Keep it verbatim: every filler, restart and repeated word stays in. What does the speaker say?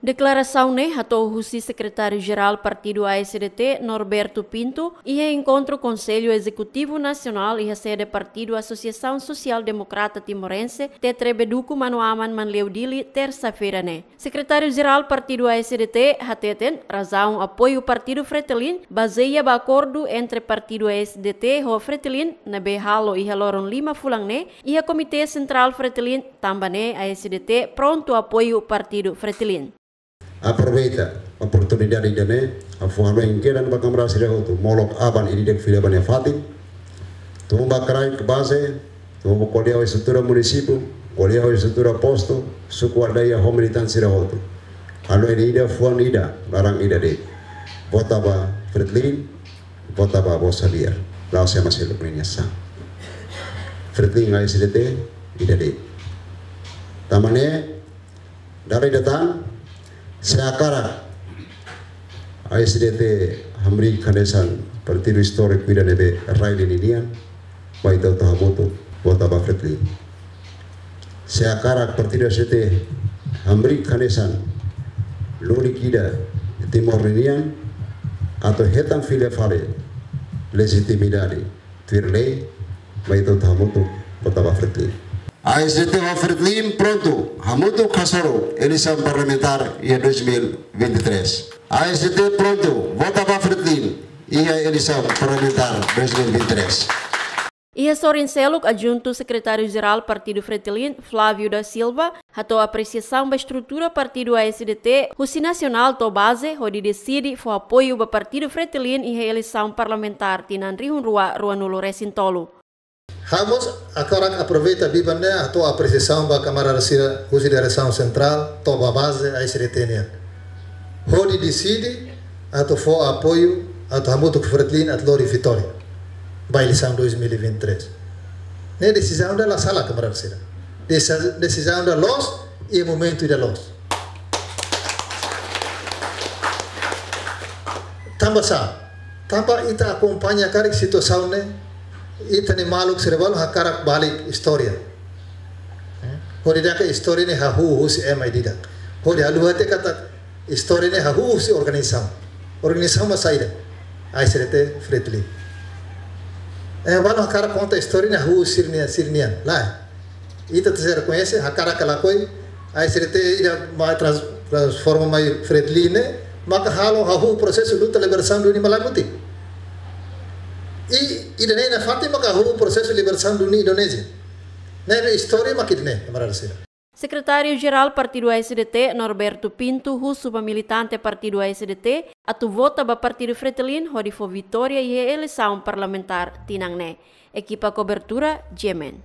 Deklarasaun ne'e hato'o husi Sekretáriu Jerál Partidu A S D T, Norberto Pinto, iha enkontru Konsellu Ezekutivu Nasionál iha sede Partidu Asosiasaun Sosiál Demokrata Timorense, Tetre Beduku Manoaman, Manleu, Dili, tersa-feira ne'e. Sekretáriu Jerál Partidu A S D T hateten razaun apoiu Partidu Fretilin bazeia ba akordu entre Partidu A S D T ho Fretilin ne'ebé halo iha loron lima fulan ne'e iha Komité Sentrál Fretilin, tanba ne'e A S D T prontu apoiu Partidu Fretilin. Aproveita oportunidade ida-ne'e, ha'u fó hanoin kedan ba kamarada sira hotu, molok aban ida-idak fila ba nia fatin, tun ba kraik baze, tun ba ko'alia ho estrutura munisípiu, ko'alia ho estrutura postu, suku aldeia ho militante sira hotu. Hanoin ida, fuan ida, laran ida de'it. Vota ba Fretilin, vota ba Bosa Liar. La'ós ema seluk ninia sasán. Fretilin A S D T, ida de'it. Tanba ne'e, dala ida tan, se hakarak A S D T hamriik hanesan partidu istóriku ida ne'ebé rai lia ninian, mai ita hotu hamutuk vota ba Fretilin. Se hakarak Partidu A S D T hamriik hanesan lulik ida Timor ninian, atu hetan fila fali lejitimidade tuir lei, mai ita hotu hamutuk vota ba Fretilin. A S D T ho Fretilin prontu hamutuk hasoru eleisaun parlamentár iha dois mil vinte e três. A S D T prontu vota ba Fretilin iha eleisaun parlamentár dois mil vinte e três. Iha sorin seluk, Adjuntu Sekretáriu Jerál Partidu Fretilin, Flávio da Silva, hato'o apresiasaun ba estrutura Partidu A S D T husi nasionál to'o baze, hodi deside fó apoiu ba Partidu Fretilin iha eleisaun parlamentár tinan rihun rua ruanulu resin tolu. Ha'u mós hakarak aproveita biban ne'e hato'o apresiasaun ba kamarada sira husi diresaun sentrál to'o ba baze A S D T nian, hodi deside atu fó apoiu atu hamutuk ho Fretilin atu lori vitória ba eleisaun dois mil e vinte e três. Ne'e desizaun ida la sala, kamarada sira. Desi-, desizaun ida loos iha momentu ida loos. Tanba sá? Tanba ita akompaña karik situasaun ne'e, ita-nia maluk sira balu hakarak balik istória. Eh? Hodi dehan katak istória ne'e hahú husi ema ida-idak. Hodi haluha tiha katak istória ne'e hahú husi organizasaun. Organizasaun mak saida? A S D T, Fretilin. Ema balu hakarak konta istória ne'e hahú husi sira-nian, sira-nian. Lae. Ita tenke rekoñese, hakarak ka lakohi, A S D T ida mai trans-, transforma mai Fretilin ne'e, maka halo hahú prosesu luta libertasaun duni Malae Mutin. I ida-ne'e nafatin maka hahú prosesu libertasaun duni Indonézia. Ne'ebé istória mak ida-ne'e, kamarada sira. Sekretáriu Jerál Partidu A S D T, Norberto Pinto, husu ba militante Partidu A S D T atu vota ba Partidu Fretilin hodi fó vitória iha eleisaun parlamentár tinan ne'e. Ekipa kobertura, G M N.